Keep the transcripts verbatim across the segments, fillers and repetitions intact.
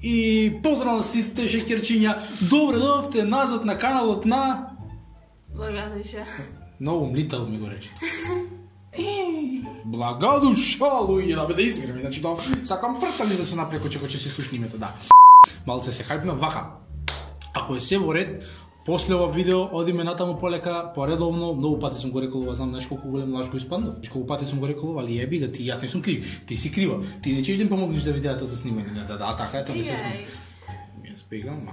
И поздрав на сите шекерчиња. Добре дојдовте назад на каналот на Благодуша. Ново млитал ми го рече. Благодуша, луѓе, да бе да изграми. Значи да сакам пртали да се напреко че ќе се слушни името, да. Малце се хајпна вака. Ако е се во ред, после ова видео одиме натаму полека, поредовно, многу пати сум го рекол, ова знам знаеш колку голем лаж го испандав. Знаеш колку пати сум го рекол, али еби га ти, јас не сум крив. Ти си крива. Ти не чеш да им помогнеш за видеата за снимање. Да, да, така ето не се сме. Јас бегам, ма,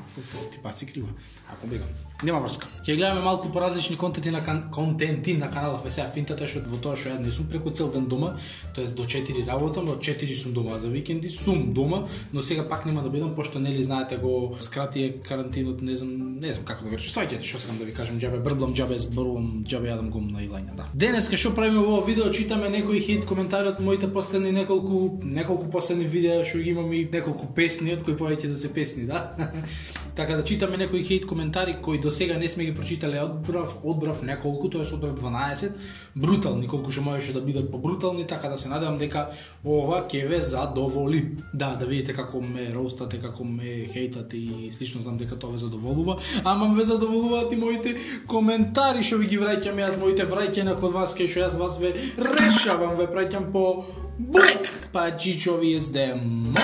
ти пат си крива. Ако бегам. Нема врска. Ќе гледаме малку поразлични контенти на кан... контенти на каналов. Е сега финтата е што во тоа што ја не сум преку цел ден дома, тоест до четири работам, од четири сум дома, за викенди сум дома, но сега пак нема да бидам пошто нели знаете го скратие карантинот, не знам, не знам како да го речам. Сваќате што сакам да ви кажам, џабе брблам, џабе зборувам, џабе јадам гум на илања, да. Денеска што правиме во ова видео, читаме некои хейт коментари од моите последни неколку неколку последни видеа што ги имам и неколку песни, од кои повеќе да се песни, да. Така да читаме некои хейт коментари кои до сега не сме ги прочитале, одбрав, одбрав неколку, тоа е одбрав дванаесет, брутални, колку што можеше да бидат побрутални, така да се надевам дека ова ќе ве задоволи. Да, да видите како ме роустате, како ме хейтате и слично, знам дека тоа ве задоволува, ама ме задоволуваат и моите коментари што ви ги враќам јас, моите враќања код вас, кај што јас вас ве решавам, ве праќам по бук, па чичови ездем.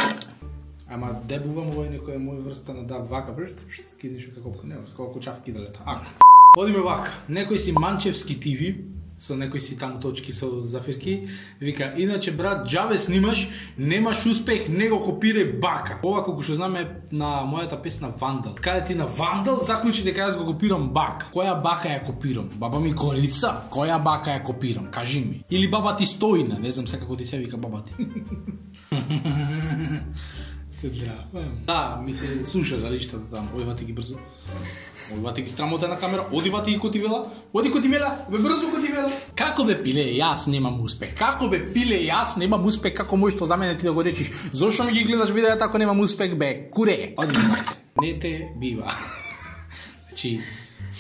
Ама дебувам овој некоја моја врста на да вака брст, кизнеш како не, колку чавки да лета. Ако одиме вака, некој си Манчевски ТВ со некои си таму точки со зафирки, вика, иначе брат, џабе снимаш, немаш успех, не го копирај бака. Ова колку што знаме на мојата песна Вандал. Каде ти на Вандал заклучи дека јас го копирам бака. Која бака ја копирам? Баба ми Корица? Која бака ја копирам? Кажи ми. Или баба ти Стојна, не знам се како ти се вика баба ти. Да, ми се слуша за лиштата таму. Оди вати ги брзо. Оди вати ги страмота на камера. Оди вати ги котивела. Оди котивела. Бе брзо котивела. Како бе пиле, јас немам успех. Како бе пиле, јас немам успех. Како можеш тоа за мене ти да го речиш? Зошто ми ги гледаш видеата ако немам успех, бе? Куре. Оди вати. Не те бива. Значи,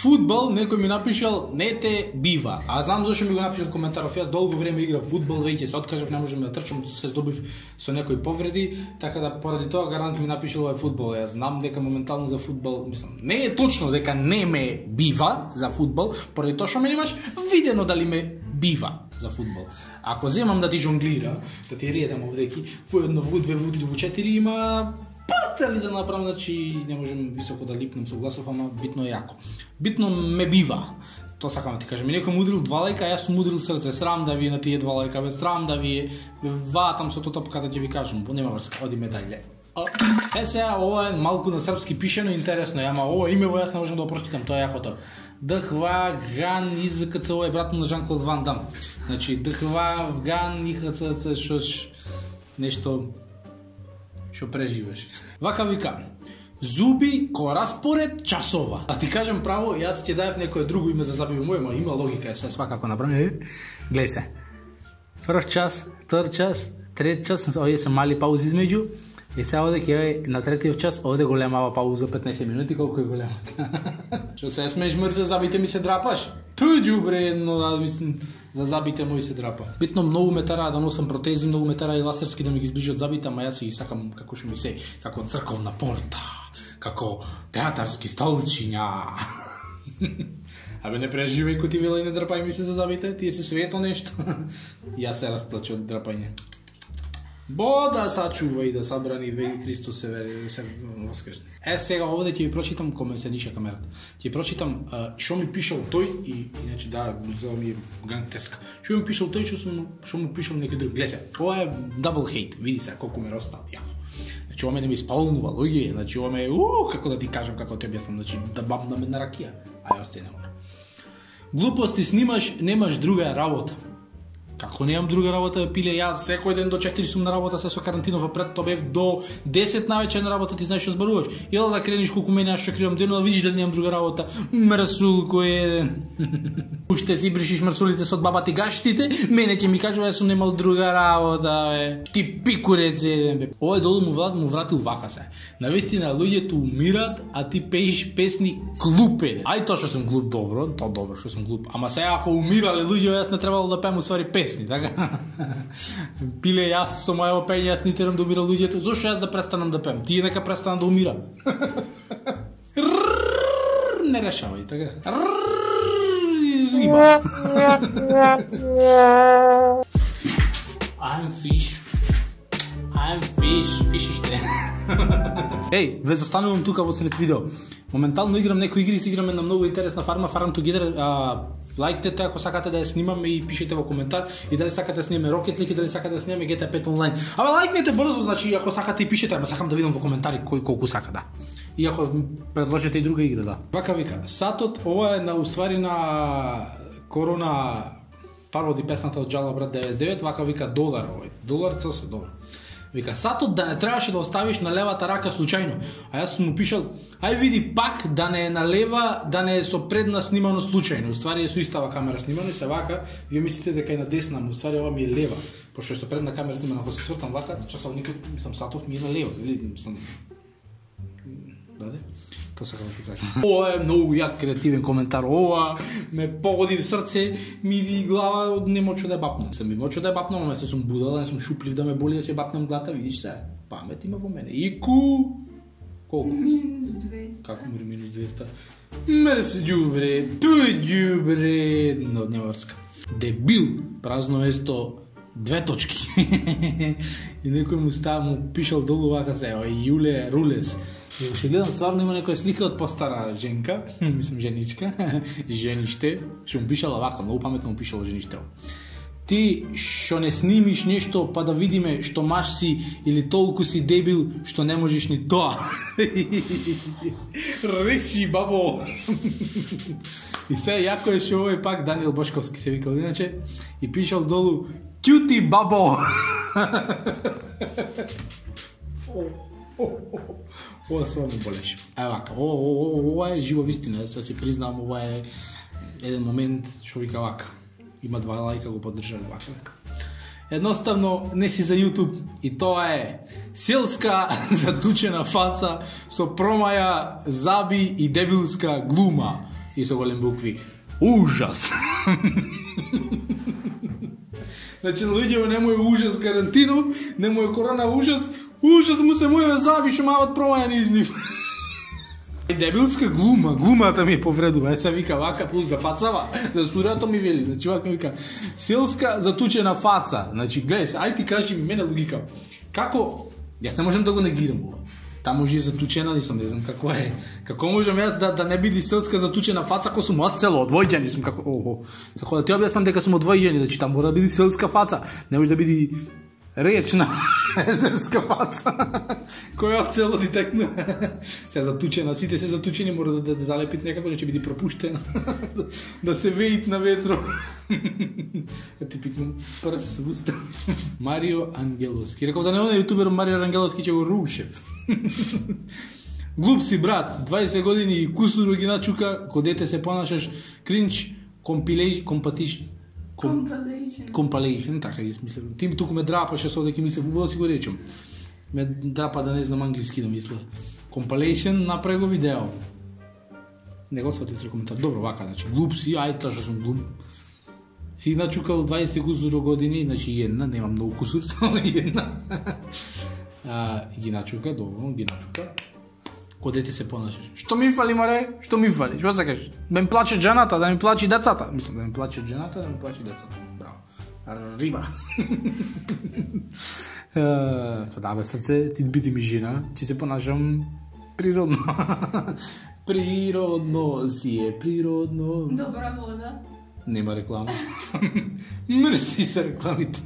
фудбал, некој ми напишал, не те бива. А знам зашто ми го напишал коментаров. Јас долго време играв фудбал, веќе се откажав, не можам да трчам, се здобив со некои повреди, така да поради тоа гарант ми напишал овој фудбал. Јас знам дека моментално за фудбал, мислам, не е точно дека не ме бива за фудбал, поради тоа што ме немаш видено дали ме бива за фудбал. Ако земам да ти жонглира, да ти редам овдеки, во едно, во две, во три, во четири има партали да направам, значи не можем високо да липнем со гласов, ама битно е јако. Битно ме бива. Тоа сакам да ти кажам. Некој му удрил два лајка, јас сум удрил срце. Срам да ви на тие два лајка, бе, срам да ви ватам со тоа топката, ќе ви кажам. Нема врска, оди медаље. Е сега, ова е малку на српски пишено, интересно е, ама ова име во јас не можам да го прочитам, тоа е јахото. Дхва Ган ИЗКЦ, ова е брат на Жан-Клод Ван Дам. Значи, Дхва Ган ИХЦЦ, што нешто што преживеш. Вака вика, зуби ко распоред часова. А ти кажам право, јас ќе даев некое друго име за забиво моје, ма има логика, е се свакако направи. Гледај се. Прв час, втор час, трет час, овие се мали паузи измеѓу. И сега оде ќе на третиот час, оде големава пауза петнаесет минути, колку е големата. Што се смееш мрз за забите ми се драпаш? Ту џубре едно, да мислам, за забите мои се драпа. Битно многу ме тара да носам протези, многу ме тара и ласерски да ми ги зближат забите, ама јас си ги сакам како што ми се, како црковна порта, како театарски столчиња. Абе не преживај котивела и не драпај ми се за забите, тие се свето нешто. Јас се расплачу од драпање. Бо да сачува и да сабрани веки Христос се вери се воскресне. Е сега овде ќе ви прочитам коме се ниша камерата. Ќе прочитам што ми пишал тој и иначе да за ми гангтерска. Што ми пишал тој, што сум што му пишал некој друг. Гледај, ова е дабл хейт. Види се колку ме ростат јако. Значи ова ме ми исполнува луѓе, значи ова ме уу како да ти кажам како ти објаснам, значи да бабна ме на ракија. А јас те не мора. Глупости снимаш, немаш друга работа. Како немам друга работа, пиле јас секој ден до четири сум на работа, се со карантинова пред тоа бев до десет навечер на работа, ти знаеш што зборуваш. Јела да крениш колку мене аз што кривам дено, да видиш дали немам друга работа. Мрсул кој еден. Уште си бришиш мрсулите со баба ти гаштите, мене ќе ми кажува јас сум немал друга работа, бе. Ти пикурец еден, бе. Овој долу му врат, му вратил вака се. Навистина луѓето умират, а ти пееш песни глуп еден. Ај тоа што сум глуп добро, тоа добро што сум глуп. Ама сега ако умирале луѓе, јас не требало да пеам усвари песни. песни, така? Пиле јас со мојава пење, јас не терам да умира луѓето. Зошто јас да престанам да пеам? Тие нека престанат да умира. Не решавај, така? Риба. I'm fish. I'm fish. Фишиште. Еј, ве застанувам тука во сред видео. Моментално играм некои игри, си играме на многу интересна фарма, Farm Together. А, лајкнете ако сакате да ја снимаме и пишете во коментар и дали сакате да снимаме Rocket League и дали сакате да снимаме G T A пет онлайн. Абе лајкнете брзо, значи ако сакате и пишете, ама сакам да видам во коментари кој колку сака, да. И ако предложите и друга игра, да. Вака вика, сатот ова е на уствари на Корона пароди песната од Джала брат деветдесет и девет, вака вика долар овој. Долар цел се долар. Вика, сатот да не требаше да оставиш на левата рака случајно. А јас сум му пишал, ај види пак да не е на лева, да не е со предна снимано случајно. Уствари е со истава камера снимано и се вака, вие мислите дека е на десна, но уствари ова ми е лева. Пошто е со предна камера снимано, ако се свртам вака, часовникот, мислам, сатов ми е на лева, или мислам... Даде? Тоа сакам да ти кажам. Ова е многу јак креативен коментар. Ова ме погоди в срце, ми иди глава, не мочу да ја бапнам. Сам ми мочу да ја бапнам, ама се сум будала, не сум шуплив да ме боли да се бапнам глата, видиш се. Памет има во мене. Ику колку? Минус двеста. Како мори минус двеста? Мерси џубре, тој џубре, но нјаварска. Дебил, празно место, две точки. И некој му става, му пишал долу вака се, Јуле Рулес. И уште гледам, стварно има некоја слика од постара женка, мислам женичка, жениште, што му пишала вака, многу паметно му пишала жениште. Ти што не снимиш нешто па да видиме што маш си или толку си дебил што не можеш ни тоа. Реши, бабо. И се јако е што овој пак Даниел Бошковски се викал иначе и пишал долу Кјути бабо. Ова се ме болеше. Ај вака, ова е жива вистина, јас се признавам, ова е еден момент што вика вака. Има два лајка го поддржали вака вака. Едноставно не си за YouTube и тоа е селска затучена фаца со промаја, заби и дебилска глума и со голем букви. Ужас. Значи луѓето не му е ужас карантину, не му е корона ужас, ужас му се моје заби што мават промаја низ нив. Дебилска глума, глумата ми повредува, е се вика вака, плюс за фацава, за студиото ми вели, значи вака ми вика, селска затучена фаца, значи гледај се, ај ти кажи ми мене логика, како, јас не можам да го негирам ова, таму може е затучена, нисам, не знам како е, како можам јас да, да не биде селска затучена фаца, ако сум од село, од Војџани, сум како, охо, како да ти објаснам дека сум од Војџани, значи таму мора да биде селска фаца, не може да биде речна езерска фаца, која од село ти текна. Се затучена, сите се затучени, мора да, да залепит некако, не ќе биде пропуштена, да се веит на ветро. Ти пикнам прс в уста. Марио Ангеловски. Реков да не оне јутубер Марио Ангеловски ќе го рушев. Глуп си, брат, дваесет години и кусуро ги начука, ко дете се понашаш, кринч, компилејш, компатиш, Compilation. Compilation, така ги смислам. Ти туку ме драпаше со дека мислев, убаво си го речем. Ме драпа да не знам англиски да мисля. Compilation, направи го видео. Не го сватите коментар. Добро, вака, значи, глуп си, ај, тоа што сум глуп. Си начукал дваесет кусуро години, значи една, нема многу кусур, само една. А, ги начука, добро, ги начука. Ко дете се понашаш. Што ми фали, море? Што ми фали? Што сакаш? Да ми плаче жената, да ми плаче децата. Мислам, да ми плаче жената, да ми плаче децата. Браво. Риба. Па да, бе, срце, ти бити ми жена, ти се понашам природно. Природно си е, природно. Добра вода. Нема реклама. Мерси за рекламите.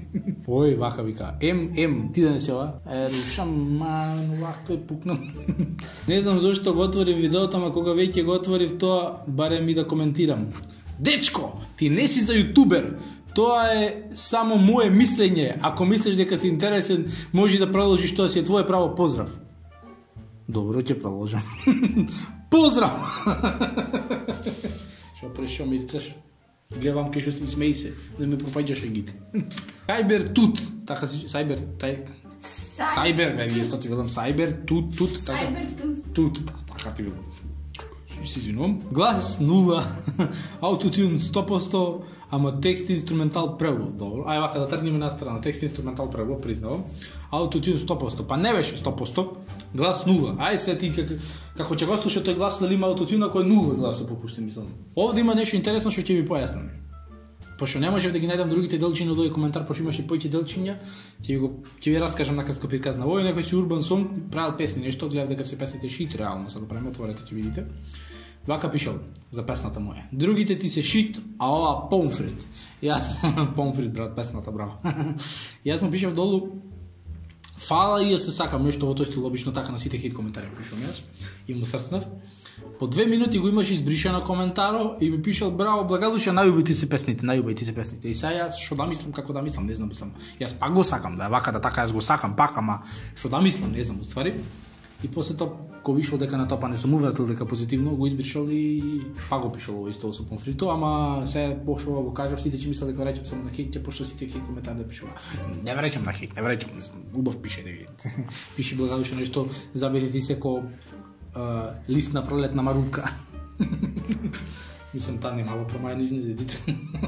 Ој, вака вика. Ем, ем, ти да не се ова? Е, шаман, вака е пукнам. Не знам зашто го отворив видеото, ама кога веќе го отворив тоа, барем и да коментирам. Дечко, ти не си за јутубер. Тоа е само мое мислење. Ако мислиш дека си интересен, може да продолжиш, тоа си е твое право. Поздрав. Добро, ќе продолжам. Поздрав! Шо прешо ми рцеш? Гледам кај што ти смеи се, да ме пропаѓаш егите. Сайбер тут, така си, сайбер, тај... Сайбер, бе, исто ти велам, сайбер тут, тут, така. Сайбер тут. Тут, така ти велам. се извинувам. Глас нула, аутотюн сто проценти, ама текст инструментал превод. Добро. Ај вака да тргнеме на страна. Текст инструментал превод, признавам. Аутотюн сто проценти. Па не беше сто проценти. Глас нула. Ај се ти как, како ќе го слушаш тој глас дали има аутотюн, ако е нула глас попушти мислам. Овде има нешто интересно што ќе ви појаснам. Пошто не можев да ги најдам другите делчиња од овој коментар, пошто имаше поеќе делчиња, ќе ви го ќе ви раскажам накратко приказ на овој некој си урбан сонг, правил песни нешто, гледав дека се песните шит реално, сега правиме отворете ќе видите. Вака пишал за песната моја. Другите ти се шит, а ова помфрит. Јас помфрит брат, песната браво. Јас му пишав долу фала и ја се сакам нешто во тој стил, обично така на сите хейт коментари пишам јас и му срцнав. По две минути го имаш избришено коментаро и ми пишал браво, благодуша, најубави се песните, најубави се песните. И сега јас што да мислам, како да мислам, не знам, мислам. Јас пак го сакам, да вака да така јас го сакам пак, ама што да мислам, не знам, уствари. И после тоа ко вишол дека на тоа па не сум увратил дека позитивно го избришал и пак го пишал ово исто со помфрито, ама се пошто го кажав сите ќе мислат дека речем само на хейт, пошто сите хейт коментари да пишува. Не вречам на хейт, не вречам, убав пише да видите. Пиши благодуша нешто, забеде ти се ко Uh, лист на пролетна марутка. Мислам, таа не мало промајани изнедите.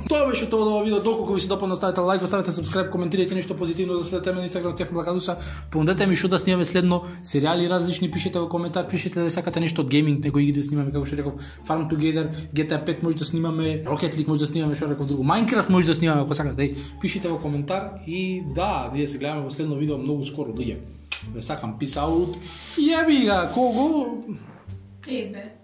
Тоа беше тоа од ова видео. Доколку ви се допадна, ставете лайк, ставете subscribe, коментирайте нешто позитивно, да следите ме на Инстаграм, тях благодуша. Понудете ми што да снимаме следно, серијали различни, пишете во коментар, пишете да сакате нешто од гейминг, некои игри да снимаме, како што реков, Farm Together, G T A пет може да снимаме, Rocket League може да снимаме, што реков друго, Minecraft може да снимаме, ако сакате. Пишете во коментар и да, ние се гледаме во следно видео многу скоро, луѓе. Ве сакам, peace out. Јеби га, кого? Тебе.